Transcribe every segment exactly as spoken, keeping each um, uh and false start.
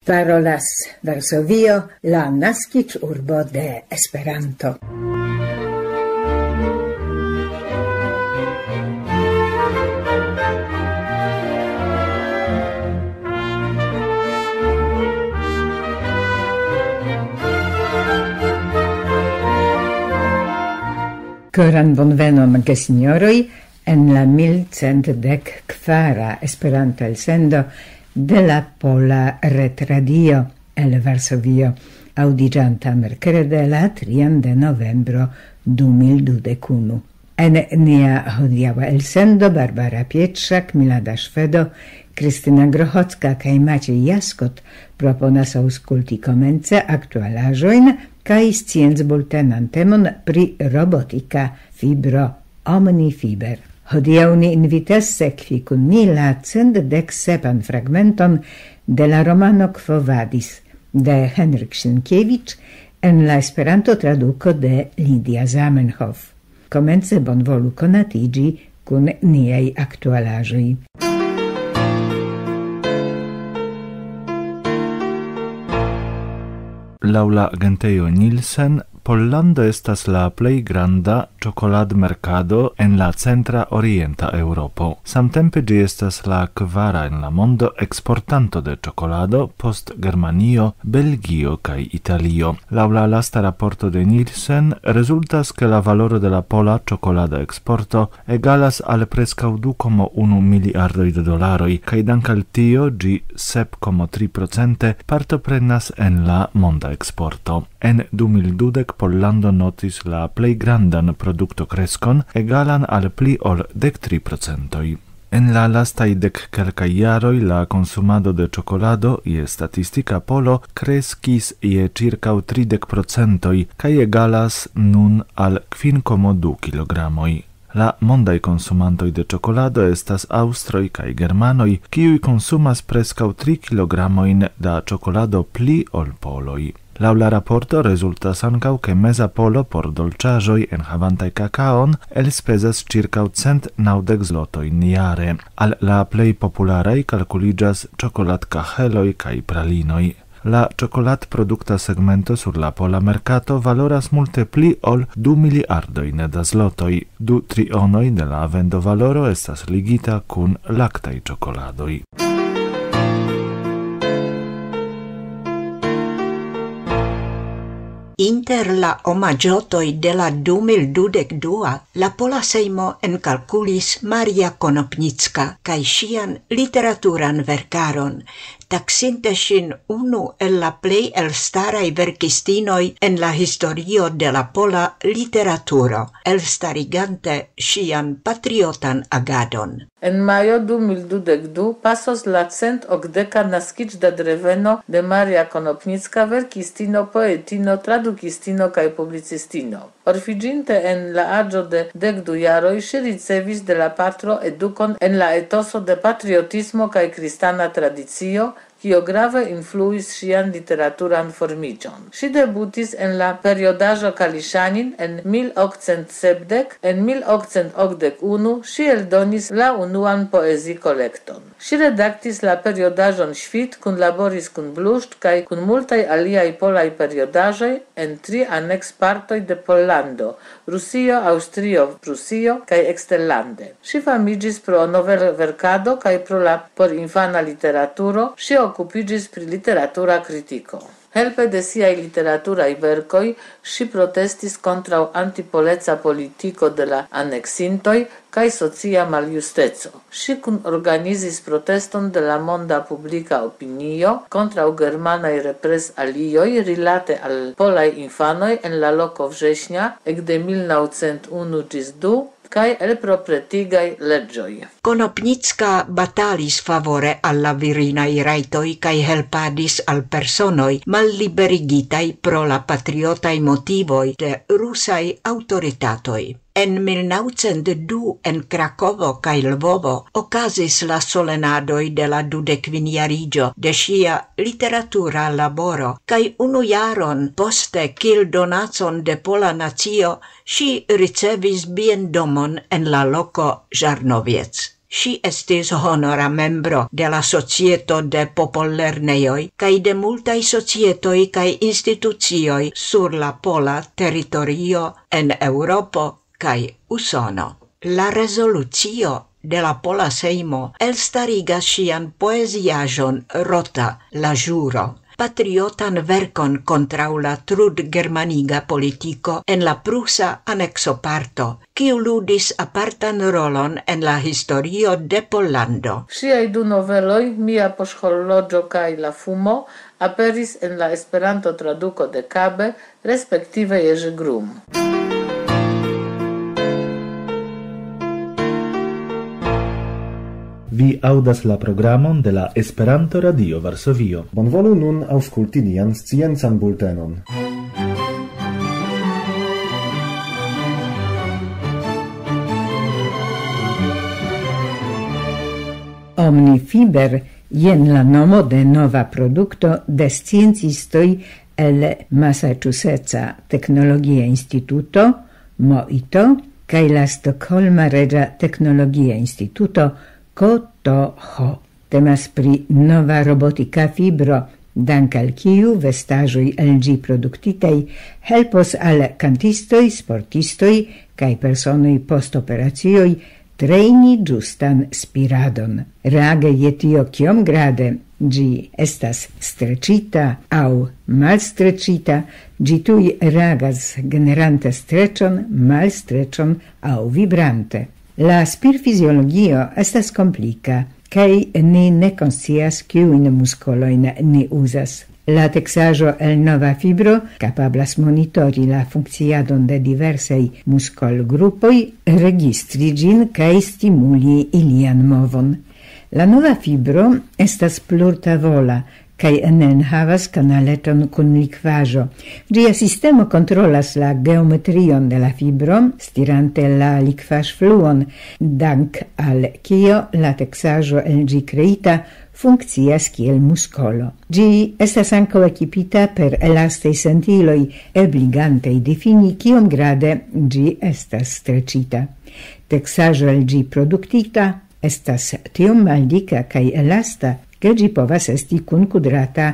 Parolas Varsovio, la naskiĝurbo de Esperanto. Koran bonvenon, gesinjoroj, en la mil cent dek kvara Esperanto-elsendo de la Pola Retradio el Varsovio, aŭdiĝanta merkrede la trian de novembro du mil dudek unu. En nia hodiaŭa elsendo Barbara Pietrzak, Milada Szwedo, Kristina Grochocka kaj Maciej Jaskot proponas aŭskulti komence aktualaĵojn kaj sciencbultenan temon pri robotika fibro Omnifiber. Hodiaŭ ni invitas sekvi kun ni la cent dek sepan fragmenton de la romano Quo Vadis de Henryk Sienkiewicz en la Esperanto-traduko de Lidia Zamenhof. Komence bonvolu konatiĝi kun niaj aktualaĵoj. Laŭ la agentejo Nielsen, Pollando estas la plej granda ĉokoladmerkado en la centra orienta Eŭropo. Samtempe ĝi estas la kvara en la mondo eksportanto de ĉokolado post Germanio, Belgio kaj Italio. Laŭ la lasta raporto de Nielsen rezultas, ke la valoro de la pola ĉokolada eksporto egalas al preskaŭ du koma unu miliardoj de dolaroj, kaj dank al tio ĝi sep koma tri procente partoprenas en la monda eksporto. En du mil dudek Pollando notis la plej grandan produktokreskon, egalan al pli ol dek tri procentoj. En la lastaj dek kelkaj jaroj la konsumado de ĉokolado je statistika polo kreskis je ĉirkaŭ tridek procentoj kaj egalas nun al kvin koma du kilogramoj. La mondaj konsumantoj de ĉokolado estas aŭstroj kaj germanoj, kiuj konsumas preskaŭ tri kilogramojn da ĉokolado pli ol poloj. Laŭ la raporto rezultas ankaŭ, ke meza polo por dolĉaĵoj enhavantaj kakaon elspezas ĉirkaŭ cent naŭdek zlotojn jare. Al la plej popularaj kalkuliĝas ĉokoladkaheloj kaj pralinoj. La ĉokoladprodukta segmento sur la pola merkato valoras multe pli ol du miliardojn da zlotoj. Du trionoj de la vendovaloro estas ligita kun laktaj ĉokoladoj. Inter la omaĝotoj de la du mil dudek dua, la Pola Sejmo enkalkulis Maria Konopnicka kaj ŝian literaturan verkaron, taksinte ŝin unu el la plej elstaraj verkistinoj en la historio de la pola literaturo, elstarigante ŝian patriotan agadon. En majo du mil dudek du pasos la cent okdeka naskiĝdadreveno de Maria Konopnicka, verkistino, poetino, tradukistino kaj publicistino. Orfiĝinte en la aĝo de dek du jaroj, ŝi ricevis de la patro edukon en la etoso de patriotismo kaj kristana tradicio, kio grave influis ŝian literaturan formiĝon. Ŝi debutis en la periodaĵo Kaliŝanin en mil okcent sepdek, en mil okcent okdek unu ŝi eldonis la unuan poezikolekton. Ŝi redaktis la periodaĵon Ŝvit, kunlaboris kun Bluszcz kaj kun multaj aliaj polaj periodaĵoj en tri anekspartoj de Pollando: Rusio, Aŭstrio, Prusio kaj eksterlande. Ŝi famiĝis pro novelverkado kaj pro la porinfana literaturo. Ŝi okupiĝis pri literatura kritiko. Helpe de siaj literaturaj verkoj ŝi protestis kontraŭ antipoleca politiko de la aneksintoj kaj socia maljusteco. Ŝi kunorganizis proteston de la monda publika opinio kontraŭ germanaj represalioj rilate al polaj infanoj en la loko Września ekde mil naŭcent unu ĝis du, kaj el propretigaj leĝoj. Konopnicka batalis favore al la virinaj rajtoj kaj helpadis al personoj malliberigitaj pro la patriotaj motivoj de rusaj aŭtoritatoj. En mil naŭcent du en Krakovo kaj Lvovo okazis la solenadoj de la dudekvinjariĝo de ŝia literatura laboro, kaj unu jaron poste kiel donacon de pola nacio ŝi ricevis biendomon en la loko Żarnowiec. Ŝi estis honora membro de la Societo de Popollernejoj kaj de multaj societoj kaj institucioj sur la pola teritorio en Eŭropo kaj Usono. La rezolucio de la Pola Sejmo elstarigas ŝian poeziaĵon Rota, la ĵuro, patriotan verkon kontraŭ la trudgermaniga politiko en la prusa aneksoparto, kiu ludis apartan rolon en la historio de Pollando. Ŝiaj du noveloj, Mia poŝhorloĝo kaj La fumo, aperis en la Esperanto-traduko de Kabe, respektive Jerzy Grum. Vi aŭdas la programon de la Esperanto-Radio Varsovio. Bonvolu nun aŭskulti nian sciencan bultenon. Omnifiber, jen la nomo de nova produkto de sciencistoj el Massachusettsa Teknologia Instituto, moito, kaj la Stokholma Reĝa Teknologia Instituto, K T H. Temas pri nova robotika fibro, dank al kiu vestaĵoj el ĝi produktitaj helpos al kantistoj, sportistoj kaj personoj post operacioj trejni ĝustan spiradon. Reage je tio, kiom grade ĝi estas streĉita aŭ malstreĉita, ĝi tuj reagas, generante streĉon, malstreĉon aŭ vibrante. La spirfiziologio estas komplika, kaj ni ne konscias, kiujn muskolojn ni uzas. La teksaĵo el nova fibro kapablas monitori la funkciadon de diversaj muskolgrupoj, registri ĝin kaj stimuli ilian movon. La nova fibro estas plurtavola kaj ne enhavas kanaleton kun likvaĵo. Ĝia sistemo kontrolas la geometrion de la fibro, stirante la likvaĵfluon, dank al kio la teksaĵo el ĝi kreita funkcias kiel muskolo. Ĝi estas ankaŭ ekipita per elastaj sentiloj, ebligantej difini, kiom grade ĝi estas streĉita. Teksaĵo el ĝi produktita estas tiom maldika kaj elasta, ke ĝi povas esti kunkudrata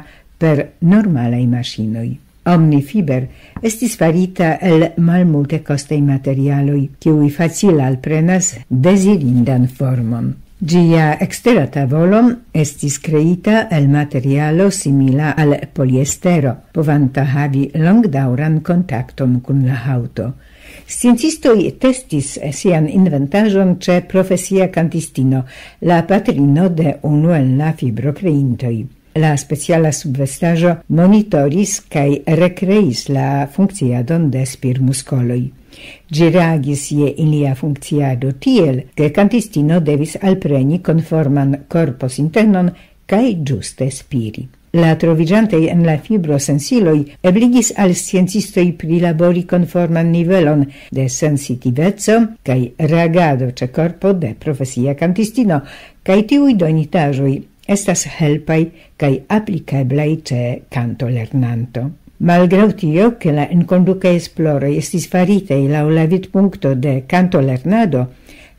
per normalaj maŝinoj. Omnifiber estis farita el malmultekostaj materialoj, kiuj facile alprenas dezirindan formon. Ĝia ekstera tavolo estis kreita el materialo simila al poliestero, povanta havi longdaŭran kontakton kun la haŭto. Sciencistoj testis sian inventaĵon ĉe profesia kantistino, la patrino de unu el la fibrokreintoj. La speciala subvestaĵo monitoris kaj rekreis la funkciadon de spirmuskoloj. Ĝi reagis je ilia funkciado tiel, ke kantistino devis alpreni konforman korposintenon kaj ĝuste spiri. La troviĝantoj en la fibro sensiloj ebligis al sciencistoj prilabori konforman nivelon de sensitiveco kaj reagado ĉe korpo de profesia kantistino, kaj tiuj donitaĵoj estas helpaj kaj aplikeblaj ĉe kantolernanto. Malgraŭ tio, ke la enkondukaj esploroj estis faritaj laŭ la vidpunkto de kantolernado,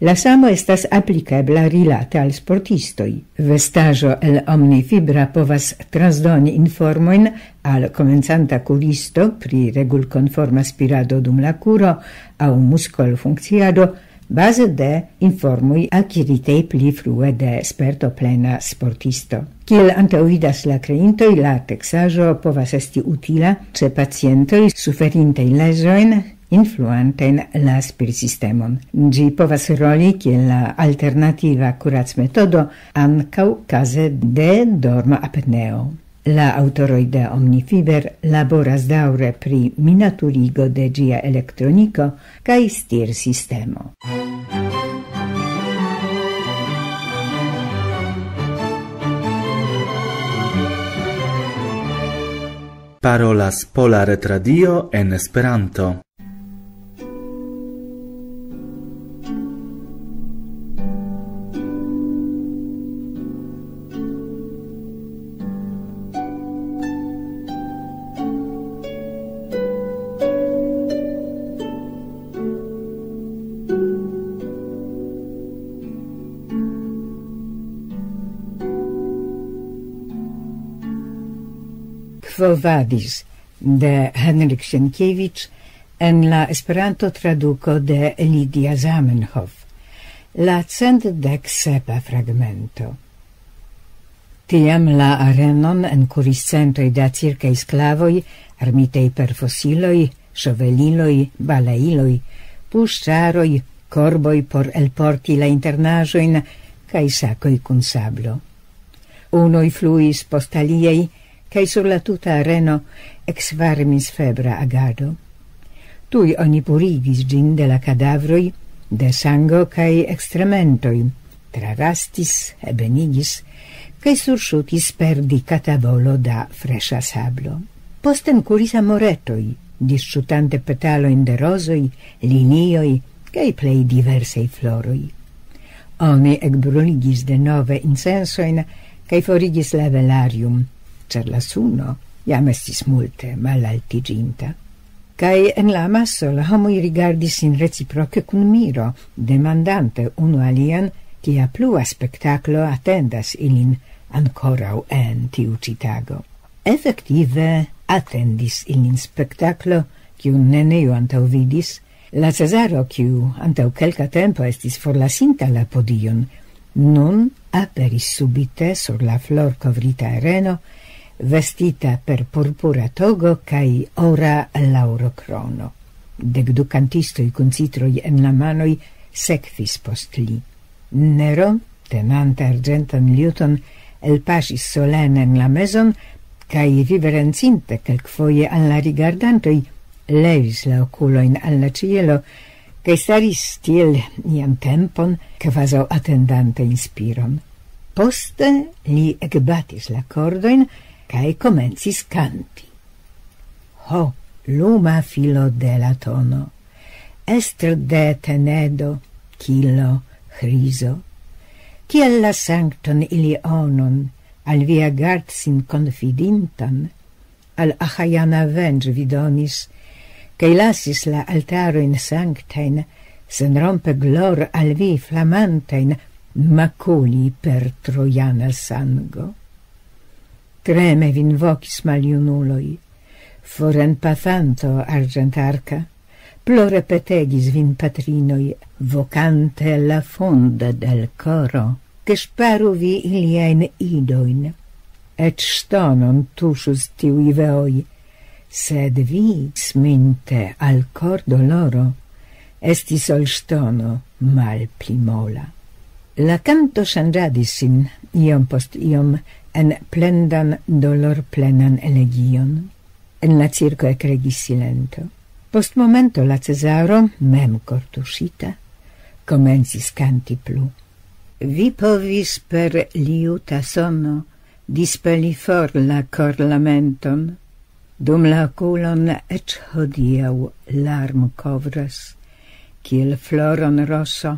la samo estas aplikebla rilate al sportistoj. Vestaĵo el omnifibra povas transdoni informojn al komencanta kuristo pri regulkonforma spirado dum la kuro aŭ muskolfunkciado, baze de informoj akiritaj pli frue de spertoplena sportisto. Kiel antaŭvidas la kreintoj, la teksaĵo povas esti utila ĉe pacientoj suferintaj leĝojn influantajn la spirsistemon. Ĝi povas roli kiel la alternativa kuracmetodo ankaŭ kaze de dorma apneo. La aŭtoroj de Omnifiber laboras daŭre pri minaturigo de ĝia elektroniko kaj stirsistemo. Parolas Pola Retradio en Esperanto. Quo Vadis de Henryk Sienkiewicz en la Esperanto-traduko de Lidia Zamenhof. La cent dek sepa fragmento. Tiam la arenon enkuris centoj da cirkaj sklavoj, armitej per fosiloj, ŝoveliloj, balailoj, puŝaroj, korboj por elporti la internaĵojn kaj sakoj kun sablo. Unoj fluis post aliaj, kaj sur la tuta areno eksvarmis febra agado. Tuj oni purigis ĝin de la kadavroj, de sango kaj ekstrementoj, trarastis, ebenigis, kaj surŝutis per dika tavolo da freŝa sablo. Poste enkuris amoretoj, disŝutante petalojn de rozoj, lilioj kaj plej diversaj floroj. Oni ekbruligis denove incensojn kaj forigis la velarium, ĉar la suno jam estis multe malaltiĝinta. Kaj en la amaso la homoj rigardis sin reciproke kun miro, demandante unu alian, kia plua spektaklo atendas ilin ankoraŭ en tiu ĉi tago. Efektive atendis ilin spektaklo, kiun neniu antaŭvidis, la Cezaro, kiu antaŭ kelka tempo estis forlasinta la podion, nun aperis subite sur la florkovrita areno, vestita per purpura togo kaj ora laŭrokrono. Dek du kantistoj kun citroj en la manoj sekvis post li. Nero, tenante arĝentan liuton, elpaŝis solene en la mezon, kaj riverencinte kelkfoje al la rigardantoj, levis la okulojn al la ĉielo, kaj staris tiel ian tempon, kvazaŭ atendante inspiron. Poste li ekbatis la kordojn kaj komencis kanti. Ho, luma filo de la tono, estro de Tenedo, Kilo, Ĥrizo, kiel la sankton Ilionon, al via gard sin konfidintan, al Aĥajana venĝ vi donis, kaj lasis la altarojn sanktajn, senrompe glor al vi flamantajn, makuli per trojana sango. Treme vin vokis maljunuloj, forenpasanto arĝentarka, plore petegis vin patrinoj, vokante la fonde del koro, ke ŝparu vi iliajn idojn. Eĉ ŝtonon tuŝus tiuj veoj, sed vi, sminte al kordoloro, estis ol ŝtono malpli mola. La kanto ŝanĝadis sin iom post iom en plendan dolorplenan elegion. En la cirko ekregis silento. Post momento la Cezaro, mem kortuŝita, komencis kanti plu. Vi povis per liuta sono dispeli for la korlamenton, dum la okulon eĉ hodiaŭ larmo kovras, kiel floron roso,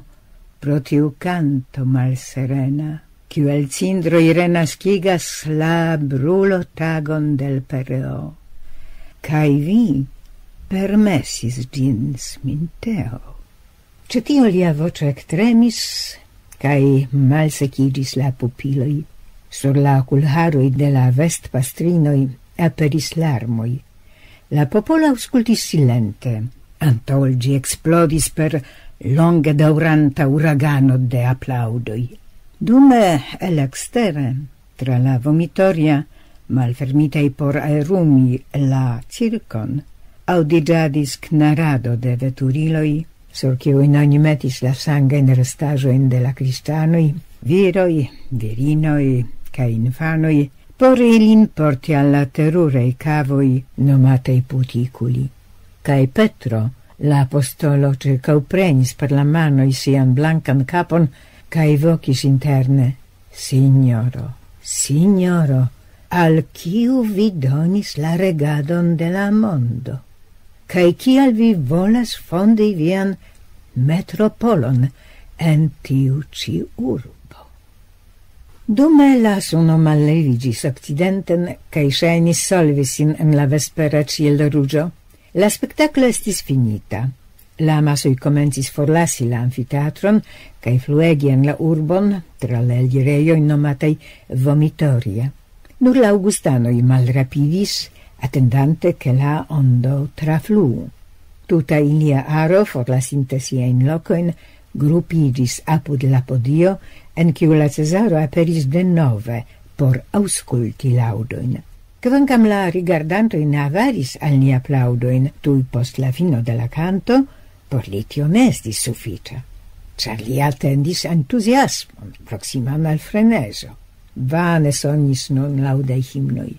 pro tiu kanto malserena, kiu el cindroj renaskigas la brulotagon del pereo. Kaj vi permesis ĝin, sminteo. Ĉe tio lia voĉo ektremis, kaj malsekiĝis la pupiloj. Sur la okulharoj de la vestpastrinoj aperis larmoj. La popolo aŭskultis silente, antaŭ ol ĝi eksplodis per longe daŭranta uragano de aplaŭdoj. Dume el ekstere, tra la vomitoria, malfermitaj por aerumi la cirkon, aŭdiĝadis knarado de veturiloj, sur kiujn oni metis la sangajn restaĵojn de la kristanoj, viroj, virinoj kaj infanoj, por ilin porti al la teruraj kavoj nomataj putikuli. Kaj Petro, la apostolo, ĉirkaŭprenis per la manoj sian blankan kapon kaj vokis interne: Signoro, signoro, al kiu vi donis la regadon de la mondo? Kaj kial vi volas fondi vian metropolon en tiu ĉi urbo? Dume la suno malleviĝis okcidenten kaj ŝajnis solvi sin en la vespera ĉielruĝo. La spektaklo estis finita. La amasoj komencis forlasi la amfiteatron kaj fluegi en la urbon tra la elirejoj nomataj vomitoria. Nur la aŭgustanoj malrapidis, atendante ke la ondo trafluu. Tuta ilia aro, forlasinte siajn lokojn, grupiĝis apud la podio, en kiu la Cezaro aperis denove por aŭskulti laŭdojn. Kvankam la rigardantoj ne avaris al ni aplaŭdojn tuj post la fino de la kanto, por li tio ne estis sufiĉa, ĉar li atendis entuziasmon proksiman al frenezo. Vane sonis nun laŭdaj himnoj.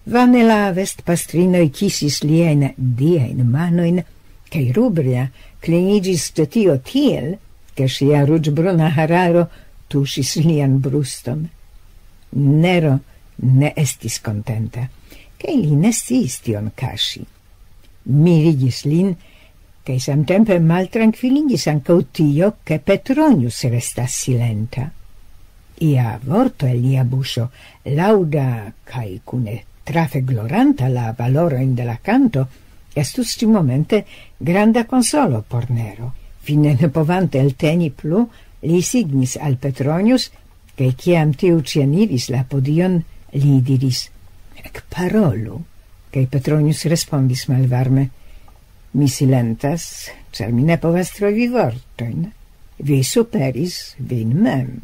Vane la vestpastrinoj kisis liajn diajn manojn, kaj Rubria kliniĝis ĉe tio tiel, ke ŝia ruĝbruna hararo tuŝis lian bruston. Nero ne estis kontenta, kaj li ne sciis tion kaŝi. Mirigis lin, kaj samtempe maltrankviligis ankaŭ tio, ke Petronius restas silenta. Ia vorto el lia buŝo, laŭda kaj kune trafe gloranta la valorojn de la kanto, estus ĉi-momente granda konsolo por Nero. Fine ne povante elteni plu, li signis al Petronius, kaj kiam tiu ĉieniris la podion, li diris: "Ekparolu." Kaj Petronius respondis malvarme: "Mi silentas, ĉar mi ne povas trovi vortojn. Vi superis vin mem."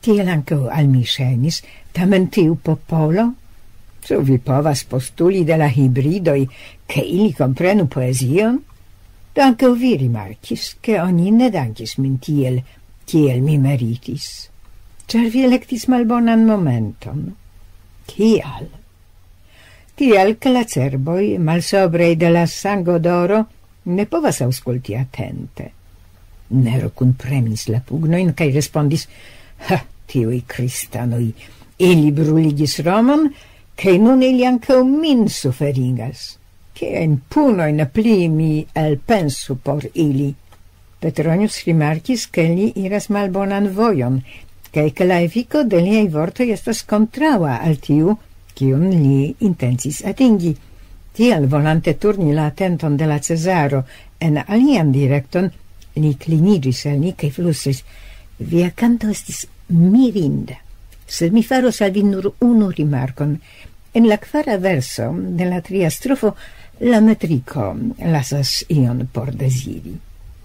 Tiel ankaŭ al mi ŝajnis, tamen tiu popolo? Ĉu vi povas postuli de la hibridoj, ke ili komprenu poezion? Do ankaŭ vi rimarkis, ke oni ne dankis min tiel, kiel mi meritis, ĉar vi elektis malbonan momenton. Kial? Tiel, ke la cerboj, malsobraj de la sangodoro, ne povas aŭskulti atente. Nero kunpremis la pugnojn kaj respondis: "Ha, tiuj kristanoj! Ili bruligis Romon, kaj nun ili ankaŭ min suferigas. Kiajn punojn pli mi elpensu por ili?" Petronius rimarkis, ke li iras malbonan vojon, kaj ke la efiko de liaj vortoj estas kontraŭa al tiu, kiun li intencis atingi. Tial, volante turni la atenton de la Cezaro en alian direkton, li kliniĝis al ni kaj flustris: "Via kanto estis mirinda, sed mi faros al vi nur unu rimarkon. En la kvara verso de la tria strofo la metriko lasas ion por deziri."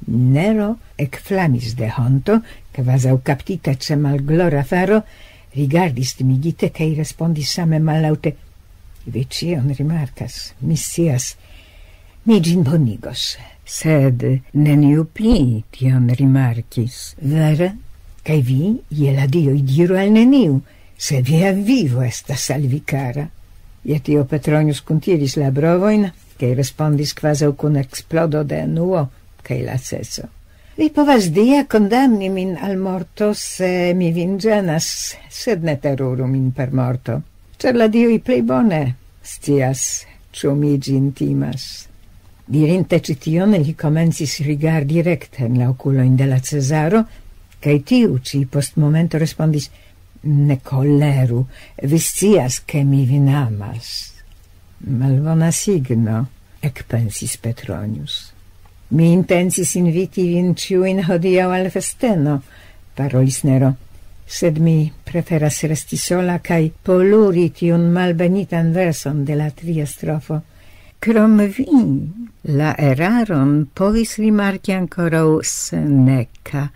Nero ekflamis de honto, kvazaŭ kaptita ĉe malglora faro, rigardis timigite kaj respondis same mallaŭte: "Vi ĉion rimarkas, mi scias. Mi ĝin bonigos." "Sed neniu pli tion rimarkis, vere? Kaj vi, je la dioj, diru al neniu, se via vivo estas al vi kara." Je tio Petronius kuntiris la brovojn, kaj respondis kvazaŭ kun eksplodo de enuo kaj laceco: "Vi povas dia kondamni min al morto, se mi vin ĝenas, sed ne teruru min per morto, ĉar la dioj plej bone scias, ĉu mi ĝin timas." Dirinte ĉi tion, li komencis rigardi rekte en la okulojn de la Cezaro, kaj tiu ĉi post momento respondis: "Ne koleru, vi scias, ke mi vin amas." "Malbona signo," ekpensis Petronius. "Mi intencis inviti vin ĉiujn hodiaŭ al festeno," parolis Nero, "sed mi preferas resti sola kaj poluri tiun malbenitan verson de la tria strofo." "Krom vi, la eraron povis rimarki ankoraŭ Seneca,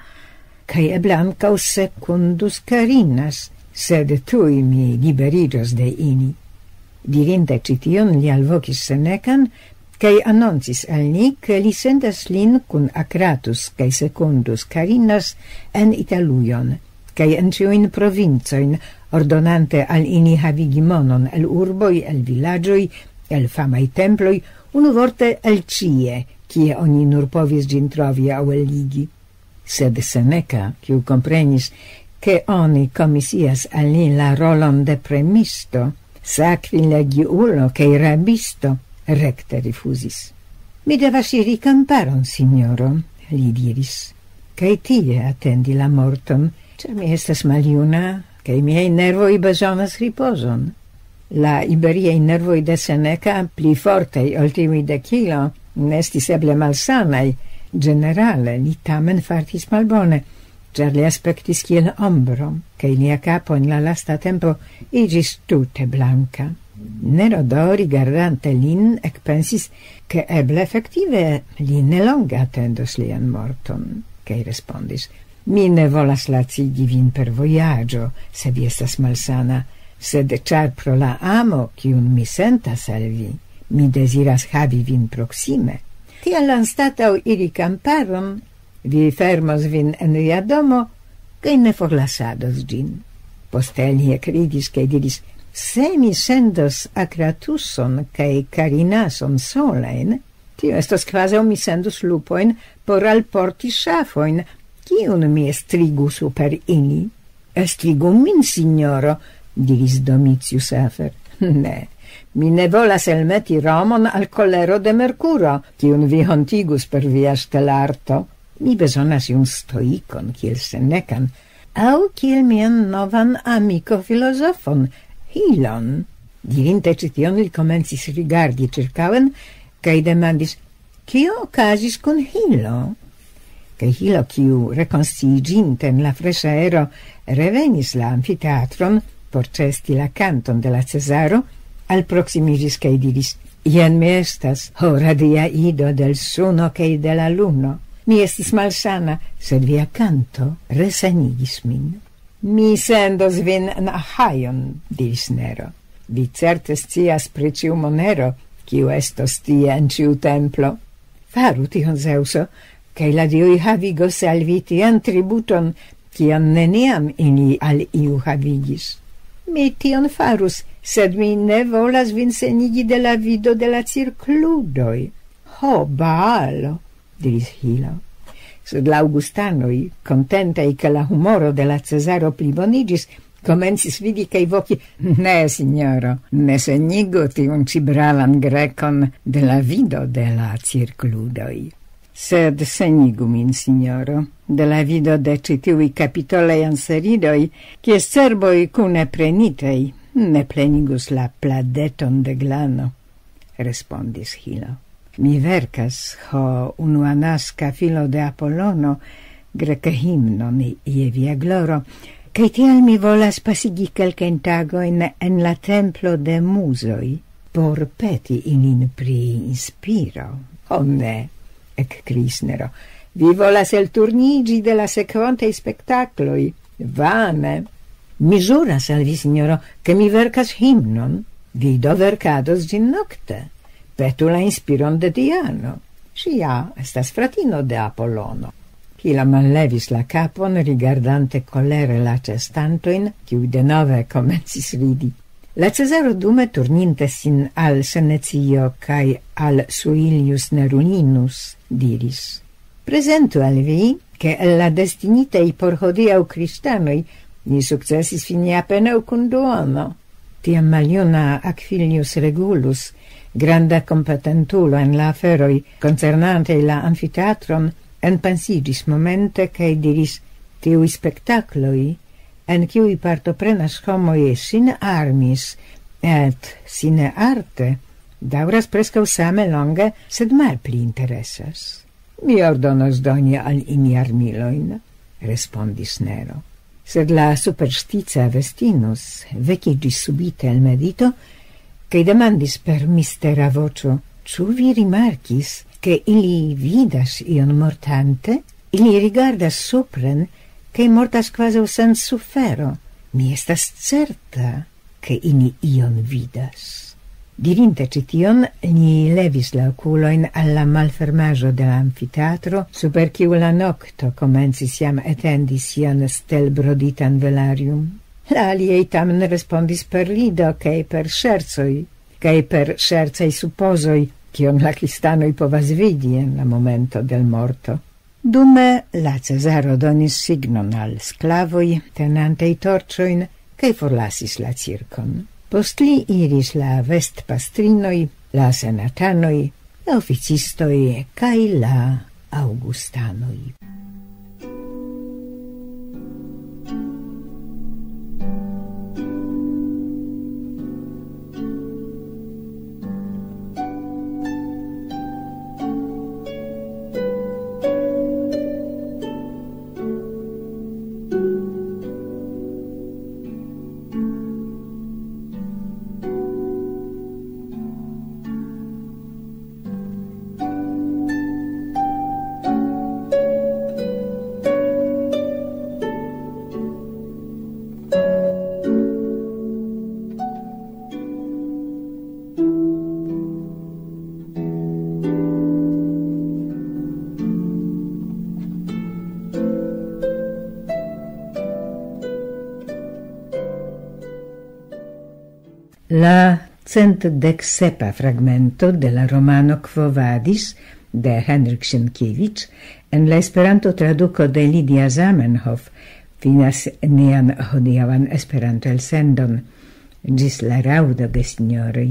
kaj eble ankaŭ Secundus Carinas, sed tuj mi liberiĝos de ili." Dirinte ĉi tion, li alvokis Senecan, kaj anoncis al ni, ke li sendas lin kun Akratus kaj Secundus Carinas en Italujon, kaj en ĉiujn provincojn, ordonante al ili havigi monon el urboj, el vilaĝoj, el famaj temploj, unuvorte el ĉie, kie oni nur povis ĝin trovi aŭ elligi. Sed Seneca, kiu komprenis, ke oni komisias al li la rolon de premisto, sakrilegiulo kaj rabisto, rekte rifuzis. "Mi devas iri kamparon, sinjoro," li diris, "kaj tie atendi la morton, ĉar mi estas maljuna, kaj miaj nervoj bezonas ripozon." La iberiaj nervoj de Seneca, pli fortaj ol tiuj de Kilo, ne estis eble malsanaj. Ĝenerale, li tamen fartis malbone. ĉar li aspektis kiel ombro, kaj lia kapo en la lasta tempo iĝis tute blanka. Nero do, rigardante lin, ekpensis, ke eble efektive li ne longe atendos lian morton, kaj respondis: "Mi ne volas lacigi vin per vojaĝo, se vi estas malsana, sed ĉar pro la amo, kiun mi sentas al vi, mi deziras havi vin proksime. Tial anstataŭ iri kamparon, vi fermos vin en via domo, kaj ne forlasados ĝin." Poste li ekridis kaj diris: "Se mi sendos Akratuson kaj Karinason solajn, tio estos kvazaŭ mi sendus lupojn por alporti ŝafojn, kiun mi estrigu super ili." "Estrigu min, sinjoro," diris Domicius Afer. "Ne, mi ne volas elmeti Romon al kolero de Merkuro, kiun vi hontigus per via ŝtelarto. Mi bezonas iun stoikon kiel Senekan, aŭ kiel mian novan amiko filozofon, Hilon." Dirinte ĉi tion, li komencis rigardi ĉirkaŭen kaj demandis: "Kio okazis kun Hilo?" Kaj Hilo, kiu, rekonsciiĝinte en la freŝa aero, revenis la amfiteatron por ĉeesti la kanton de la Cezaro, alproksimiĝis kaj diris: "Jen mi estas, ho radia ido del suno kaj de la luno. Mi estis malsana, sed via kanto resanigis min." "Mi sendos vin en Ahajon," diris Nero. "Vi certe scias pri ĉiu monero, kiu estos tie en ĉiu templo. Faru tion, Zeŭso, kaj la dioj havigos al vi tian tributon, kian neniam ili al iu havigis." "Mi tion farus, sed mi ne volas vin senigi de la vido de la cirkludoj." "Ho, Baalo," diris Hilo. Sed la aŭgustanoj, kontentaj, ke la humoro de la Cezaro pliboniĝis, komencis ridi kaj voki: "Ne, sinjoro, ne senigu tiun ĉi bravan grekon de la vido de la cirkludoj." "Sed senigu min, sinjoro, de la vido de ĉi tiuj kapitolaj anseridoj, kies cerboj kune prenitej ne plenigus la pladeton de glano," respondis Hilo. "Mi verkas, ho unuanaska filo de Apolono, greka himnon je via gloro, kaj tial mi volas pasigi kelkajn tagojn en la templo de muzoj, por peti ilin pri inspiro." "Ho ne," ekkriis Nero, "vi volas elturniĝi de la sekvantaj spektakloj. Vane." "Mi ĵuras al vi, sinjoro, ke mi verkas himnon. Vi do verkados ĝin nokte. Petu la inspiron de Diano. Ŝi ja estas fratino de Apolono." Hilo mallevis la kapon, rigardante kolere la ĉeestantojn, kiuj denove komencis ridi. La Cezaro dume, turninte sin al Senecio kaj al Suilius Nerulinus, diris: "Prezentu al vi, ke el la destinitaj por hodiaŭ kristanoj ni sukcesis fini apenaŭ kun duono." Tiam maljuna Aquilius Regulus, granda kompetentulo en la aferoj koncernante la amfiteatron, enpensiĝis momente kaj diris: "Tiuj spektakloj, en kiuj partoprenas homoj sin armis et sine arte, daŭras preskaŭ same longe, sed malpli interesas." "Mi ordonos doni al ili armilojn," respondis Nero. Sed la superstica Vestinus vekiĝis subite el medito kaj demandis per mistera voĉo: "Ĉu vi rimarkis, ke ili vidas ion mortante? Ili rigardas supren, kaj mortas kvazaŭ sen sufero. Mi estas certa, ke ili ion vidas." Dirinte ĉi tion, li levis la okulojn al la malfermaĵo de la amfiteatro, super kiu la nokto komencis jam etendi sian stelbroditan velarium. La aliaj tamen respondis per rido kaj per ŝercoj, kaj per ŝercaj supozoj, kion la kristanoj povas vidi en la momento de l' morto. Dume la Cezaro donis signon al sklavoj, tenantej torĉojn, kaj forlasis la cirkon. Post li iris la vestpastrinoj, la senatanoj, la oficistoj kaj la aŭgustanoj. La cent dek sepa fragmento de la romano Quo Vadis de Henryk Sienkiewicz en la Esperanto-traduko de Lidia Zamenhof finas nian hodiaŭan Esperanto-elsendon. Ĝis la raŭdo, gesinjoroj.